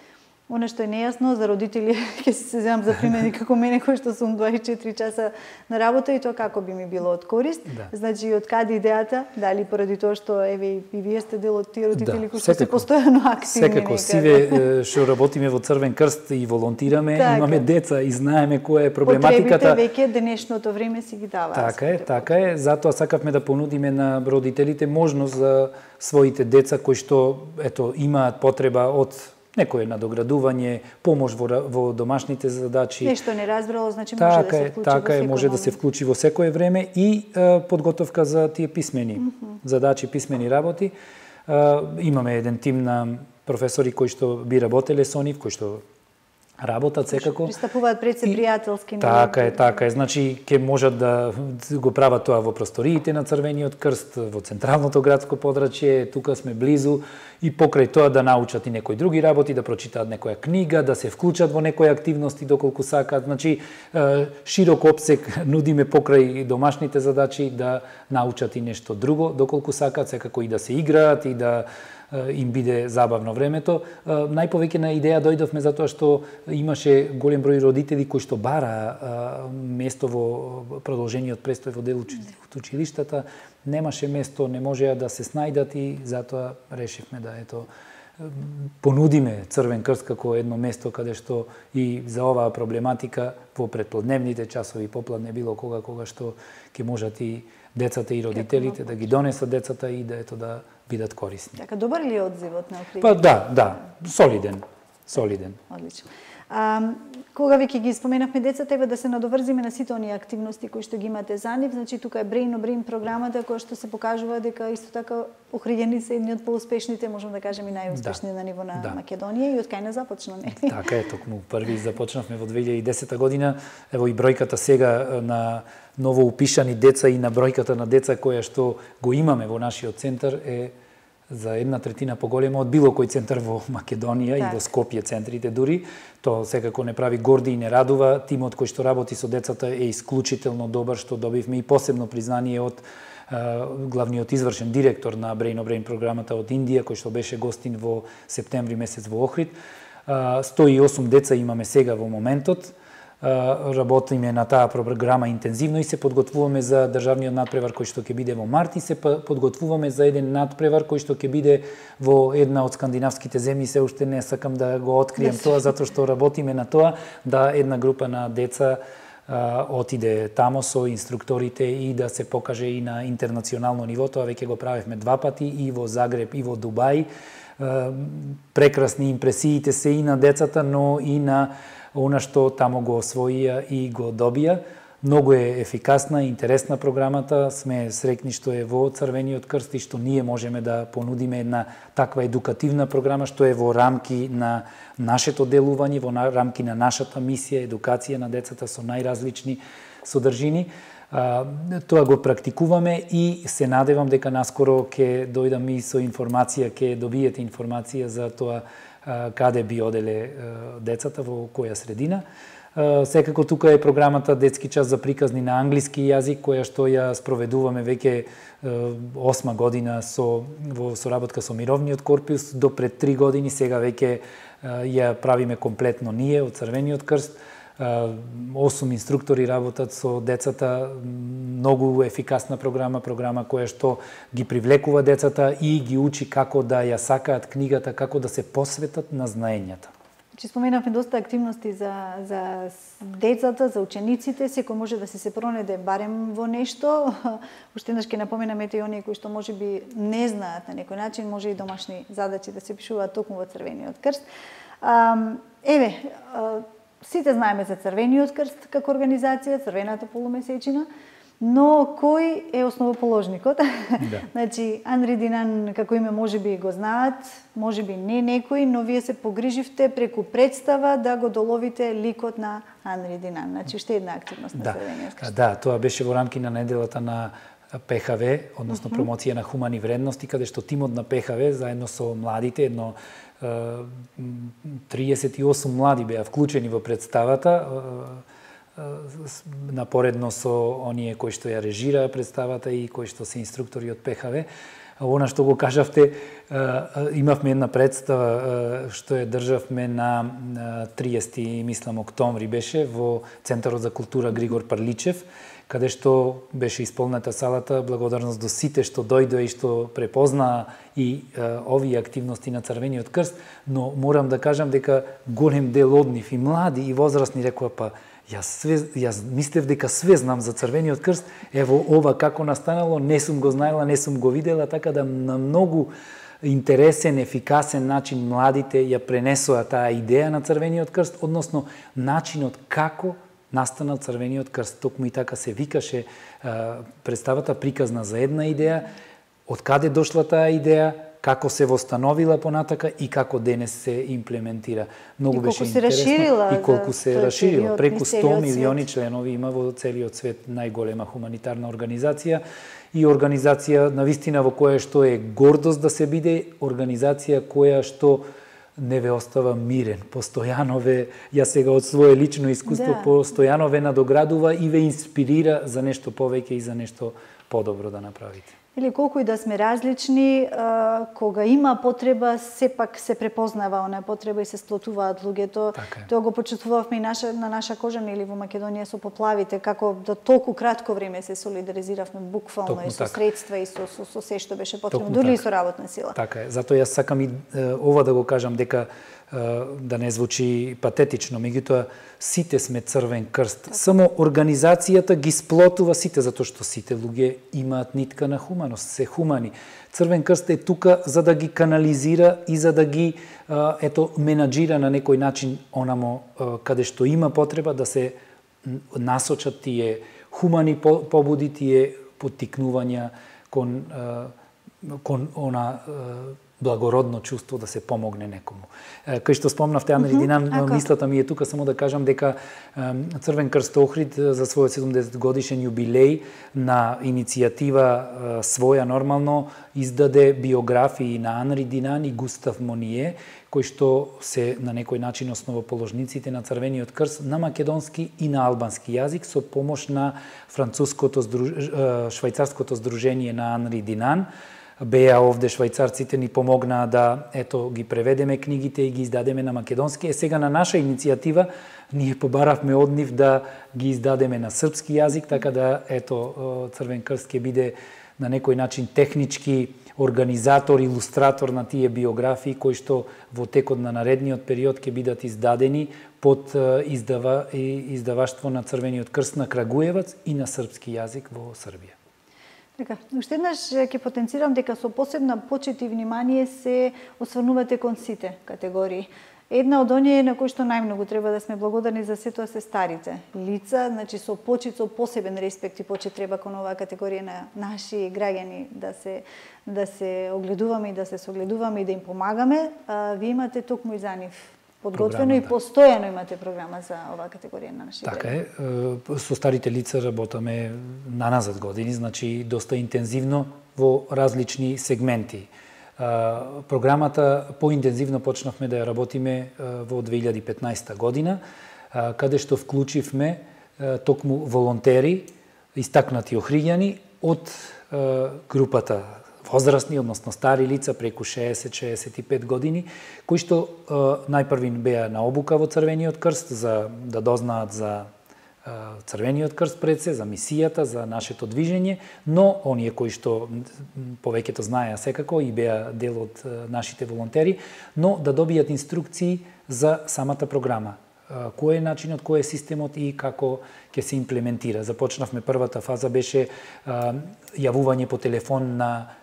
Оно што е нејасно за родители, ќе се земам за пример како мене кој што сум 24 часа на работа и тоа како би ми било од корист. Значи од каде идејата, дали поради тоа што еве и вие сте дел од тие родители кои што се постојано активни. Секако сиве што работиме во Црвен крст и волонтираме, имаме деца и знаеме која е проблематиката. Потребите веќе денешното време си ги даваат. Така е, затоа сакавме да понудиме на родителите можност за своите деца кои што имаат потреба од некое надоградување, помош во домашните задачи. Нешто не разбрало, значи може да се вклучи така е, може да се вклучи во секое време и подготовка за тие писмени задачи, писмени работи. Имаме еден тим на професори кои што би работеле со нив, кои што работат секако. Пристапуваат пред се пријателски. Така е. Значи, ќе можат да го прават тоа во просториите на Црвениот крст, во централното градско подрачје, тука сме близу, и покрај тоа да научат и некои други работи, да прочитаат некоја книга, да се вклучат во некои активности доколку сакаат. Значи, широк опсек нудиме покрај домашните задачи да научат и нешто друго, доколку сакаат, секако и да се играат и да им биде забавно времето. Најповеќе на идеја дојдовме затоа што имаше голем број родители кои што бара место во продолжениот престој во дел од училиштата, немаше место, не можеа да се снајдат и затоа решивме да понудиме Црвен крст како едно место каде што и за оваа проблематика во предплодневните часови, попладне, било кога што ќе можат и децата и родителите да ги донесат децата и да бидат корисни. Така, добар ли е одзивот на окружјето? Па да, солиден. Одлично. Кога веќе ги споменавме децата, да се надоврзиме на сите оние активности кои што ги имате за нив, значи тука е Brain on Brain програмата која што се покажува дека исто така Охриѓани се едни од поуспешните, можам да кажем и најуспешни на ниво на Македонија и од кај не започна, нели? Така е, токму први започнавме во 2010 година, ево и бројката сега на ново упишани деца и на бројката на деца која што го имаме во нашиот центар е за 1/3 поголема од било кој центар во Македонија и во Скопје центрите дури. Тоа секако не прави горди и не радува. Тимот кој што работи со децата е исклучително добар, што добивме и посебно признание од главниот извршен директор на Brain on Brain програмата од Индија, кој што беше гостин во септември месец во Охрид. 108 деца имаме сега во моментот. Работиме на таа програма интензивно и се подготвуваме за државниот надпревар кој што ќе биде во март и се подготвуваме за еден надпревар кој што ќе биде во една од скандинавските земји. Се уште не сакам да го открием тоа, затоа што работиме на тоа да една група на деца отиде тамо со инструкторите и да се покаже и на интернационално ниво. Тоа веќе го правевме 2 пати и во Загреб и во Дубај. Прекрасни импресиите се и на децата, но и на она што тамо го освоија и го добија. Многу е ефикасна и интересна програмата. Сме среќни што е во Црвениот крст и што ние можеме да понудиме една таква едукативна програма што е во рамки на нашето делување, во рамки на нашата мисија, едукација на децата со најразлични содржини. Тоа го практикуваме и се надевам дека наскоро ќе дојдам и со информација, ќе добиете информација за тоа каде би оделе децата, во која средина. Секако тука е програмата Детски час за приказни на англиски јазик, која што ја спроведуваме веќе 8 година во соработка со Мировниот корпус, до пред 3 години, сега веќе ја правиме комплетно ние од Црвениот крст. 8 инструктори работат со децата, многу ефикасна програма која што ги привлекува децата и ги учи како да ја сакаат книгата, како да се посветат на знаењата. Че споменавме доста активности за децата, за учениците, секој може да се пронајде барем во нешто. Уште еднаш ќе напоменаме и оние кои што можеби не знаат на некој начин, може и домашни задачи да се пишуваат токму во Црвениот крст. Сите знаеме за Црвениот крст како организација, Црвената полумесечина. Но кој е основоположникот? Да. Значи, Анри Динан, како име, можеби го знаат, можеби не некој, но вие се погриживте преку представа да го доловите ликот на Анри Динан. Значи, уште една активност на Црвениот крст. Да, тоа беше во рамки на неделата на ПХВ, односно промоција на хумани вредности, каде што тимот на ПХВ, заедно со младите, 38 млади беа вклучени во представата, напоредно со оние кои што ја режираа представата и кои што се инструктори од ПХВ. Она што го кажавте, имавме една представа што ја државме на 30 мислам октомври беше во Центарот за култура Григор Парличев, каде што беше исполнета салата, благодарност до сите што дојдоа и што препознаа и овие активности на Црвениот крст, но морам да кажам дека голем дел од нив и млади и возрастни рекоа па Јас мислев дека све знам за Црвениот крст, ево ова како настанало, не сум го знаела, не сум го видела, така да на многу интересен, ефикасен начин младите ја пренесоа таа идеја на Црвениот крст, односно начинот како настанал Црвениот крст. Токму и така се викаше представата приказна за една идеја, од каде дошла таа идеја, како се востановила понатака и како денес се имплементира. Многу беше интересно и колку се расширила. Преку 100 милиони членови има во целиот свет, најголема хуманитарна организација и организација навистина во која што е гордост да се биде организација која што не ве остава мирен, постојано ве, ја сега од свое лично искуство, постојано ве надоградува и ве инспирира за нешто повеќе и за нешто подобро да направите. Или колку и да сме различни, кога има потреба, сепак се препознава онаа потреба и се сплотуваат луѓето. Тоа го почувствувавме и на наша кожа, или во Македонија со поплавите, како до толку кратко време се солидаризиравме буквално и со средства и со се што беше потребно, дури и со работна сила. Така е, затоа јас сакам и ова да го кажам дека да не звучи патетично, меѓутоа сите сме Црвен крст. Само организацијата ги сплотува сите, затоа што сите луѓе имаат нитка на хуманост, се хумани. Црвен крст е тука за да ги канализира и за да ги менаџира на некој начин онамо каде што има потреба да се насочат тие хумани побуди, тие поттикнувања кон она благородно чувство да се помогне некому. Кај што спомнавте Анри Динан, мислата ми е тука само да кажам дека Црвен крст Охрид за својот 70 годишен јубилеј на иницијатива своја нормално издаде биографии на Анри Динан и Густав Моние, кои што се на некој начин основоположниците на Црвениот крст на македонски и на албански јазик со помош на швајцарското здружение на Анри Динан. Беа овде швајцарците ни помогнаа да ги преведеме книгите и ги издадеме на македонски. Сега на наша иницијатива ние побаравме од нив да ги издадеме на српски јазик, така да Црвен крст ќе биде на некој начин технички организатор, илустратор на тие биографии кои што во текот на наредниот период ќе бидат издадени под издаваштво на Црвениот крст на Крагуевац и на српски јазик во Србија. Така, уште еднаш ќе потенцирам дека со посебна почит и внимание се осврнувате кон сите категории. Една од оние на кои што најмногу треба да сме благодарни за сето се старите лица, значи со почит, со посебен респект и почит треба кон оваа категорија на наши граѓани да се огледуваме и да се согледуваме и да им помагаме. Вие имате токму и за нив подготвено и постојано имате програма за оваа категорија на наши граѓани. Така е, со старите лица работаме наназад години, значи доста интензивно во различни сегменти. Програмата поинтензивно почнавме да ја работиме во 2015 година, каде што вклучивме токму волонтери, истакнати охриѓани од групата возрастни, односно стари лица преку 60-65 години, кои што најпрви беа на обука во Црвениот крст за да дознаат за Црвениот крст пред се, за мисијата, за нашето движење, но оние кои што повеќето знаеа секако и беа дел од нашите волонтери, но да добијат инструкции за самата програма. Кој е начинот, кој е системот и како ќе се имплементира. Започнавме, првата фаза беше јавување по телефон на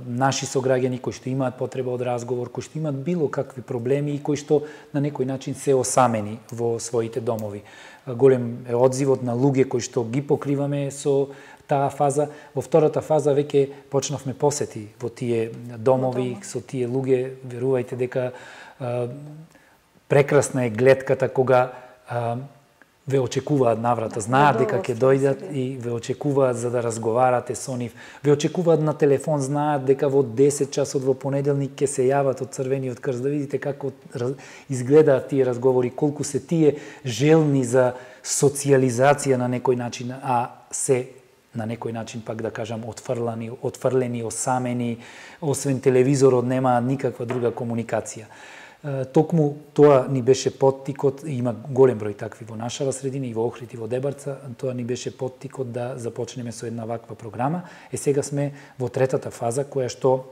наши сограѓани кои што имаат потреба од разговор, кои што имаат било какви проблеми и кои што на некој начин се осамени во своите домови. Голем е одзивот на луѓе кои што ги покриваме со таа фаза. Во втората фаза веќе почнавме посети во тие домови, со тие луѓе. Верувајте дека прекрасна е гледката кога ве очекуваат наврата, знаат дека ќе дојдат и ве очекуваат за да разговарате со нив. Ве очекуваат на телефон, знаат дека во 10 часот во понеделник ќе се јават од Црвениот крст, да видите како изгледаат тие разговори, колку се тие желни за социализација на некој начин, а се на некој начин, пак да кажам, отфрлени, осамени, освен телевизорот немаат никаква друга комуникација. Токму тоа ни беше поттикот, има голем број такви во нашава средина и во Охрид и во Дебарца, тоа ни беше поттикот да започнеме со една ваква програма. Сега сме во третата фаза, која што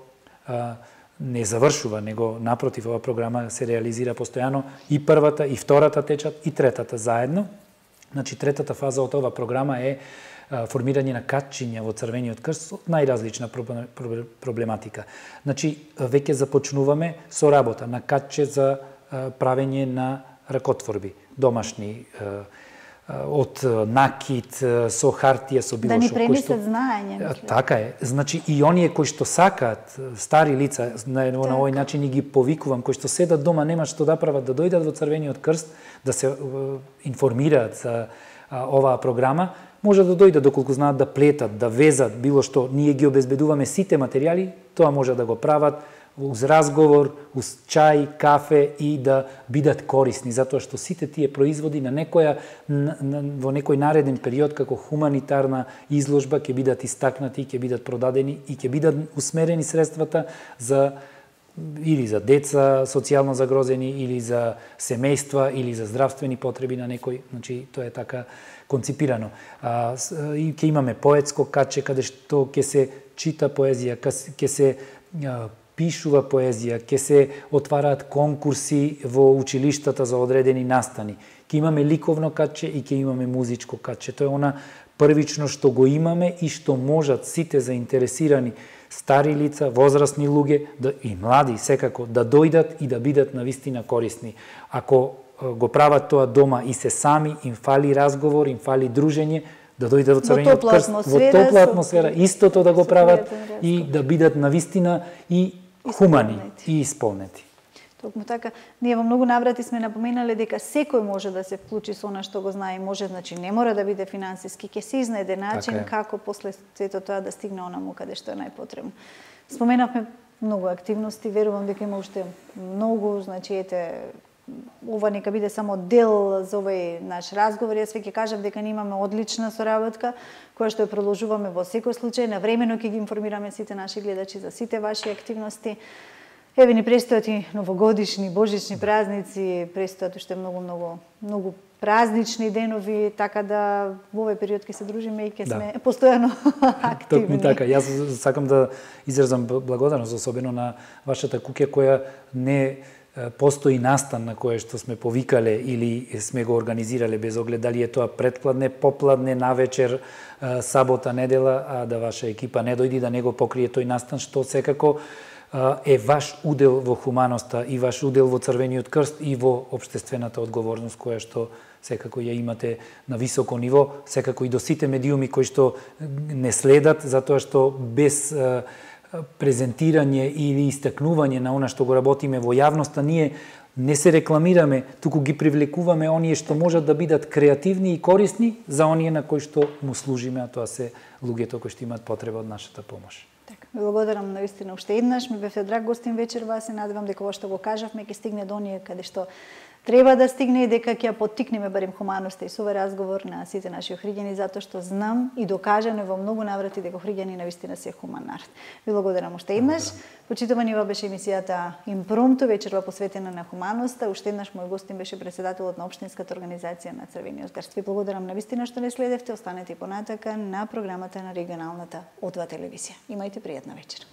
не завршува, него напротив, ова програма се реализира постојано, и првата, и втората течат, и третата заедно. Значи, третата фаза од ова програма е формирање на катчиња во Црвениот крст од најразлична проблематика. Значи, веќе започнуваме со работа на катче за правење на ракотворби, домашни, од накит, со хартија, со било што. Да ни пренесат знаење. Така е. Значи, и оние кои што сакаат, стари лица, на овој начин и ги повикувам, кои што седат дома, немаат што да прават, да дојдат во Црвениот крст, да се информираат за оваа програма, може да дојдат доколку знаат да плетат, да везат, било што, ние ги обезбедуваме сите материјали, тоа може да го прават уз разговор, уз чај, кафе и да бидат корисни, затоа што сите тие производи во некој нареден период како хуманитарна изложба ќе бидат истакнати, ќе бидат продадени и ќе бидат усмерени средствата за или за деца социјално загрозени, или за семејства, или за здравствени потреби на некој, значи тоа е така конципирано. И ќе имаме поетско катче каде што ќе се чита поезија, ќе се пишува поезија, ќе се отвараат конкурси во училиштата за одредени настани. Ќе имаме ликовно катче и ќе имаме музичко катче. Тоа е она првично што го имаме и што можат сите заинтересирани стари лица, возрастни луѓе и млади секако да дојдат и да бидат навистина корисни. Ако го прават тоа дома и се сами, им фали разговор, им фали дружење, да дојдат во Црвениот крст, во топла атмосфера, истото да го прават и да бидат навистина и хумани и исполнети. Токму така, ние во многу наврати сме напоменале дека секој може да се вклучи со она што го знае, може, значи не мора да биде финансиски, ќе се изнајде начин како после сето тоа да стигне онаму каде што е најпотребно. Споменавме многу активности, верувам дека има уште многу, значи ете, ова нека биде само дел за овој наш разговор. Јас веќе кажав дека ние имаме одлична соработка, која што ја продолжуваме во секој случај. Навремено ќе ги информираме сите наши гледачи за сите ваши активности. Еве ни престојат и новогодишни, божични празници, престојат уште многу празнични денови, така да во овој период ќе се дружиме и ќе сме постојано активни. Токму така, јас сакам да изразам благодарност особено на вашата куќа која не постои настан на кое што сме повикале или сме го организирале без оглед дали е тоа предпладне, попладне, навечер, сабота, недела, а да ваша екипа не дојди да не го покрие тој настан, што секако е ваш удел во хуманоста и ваш удел во Црвениот крст и во општествената одговорност која што секако ја имате на високо ниво, секако и до сите медиуми кои што не следат, затоа што без презентирање или истакнување на она што го работиме во јавноста, ние не се рекламираме, туку ги привлекуваме оние што можат да бидат креативни и корисни за оние на кои што му служиме, а тоа се луѓето кои што имаат потреба од нашата помош. Така, благодарам навистина уште еднаш, ми бевте драг гостин вечерва, се надевам дека ова што го кажавме ќе стигне до оние каде што треба да стигне и дека ќе ја поттикнеме барем хуманоста и со овој разговор на сите наши охриѓани, затоа што знам и докажано во многу наврати дека охриѓани навистина се хуман народ. Ви благодарам уште еднаш. Почитувани, ова беше емисијата Импромту, вечерва посветена на хуманоста. Уште еднаш мој гостин беше председателот на општинската организација на Црвениот крст. Ви благодарам навистина што не следевте, останете и понатака на програмата на регионалната О2 телевизија. Имајте пријатна вечер.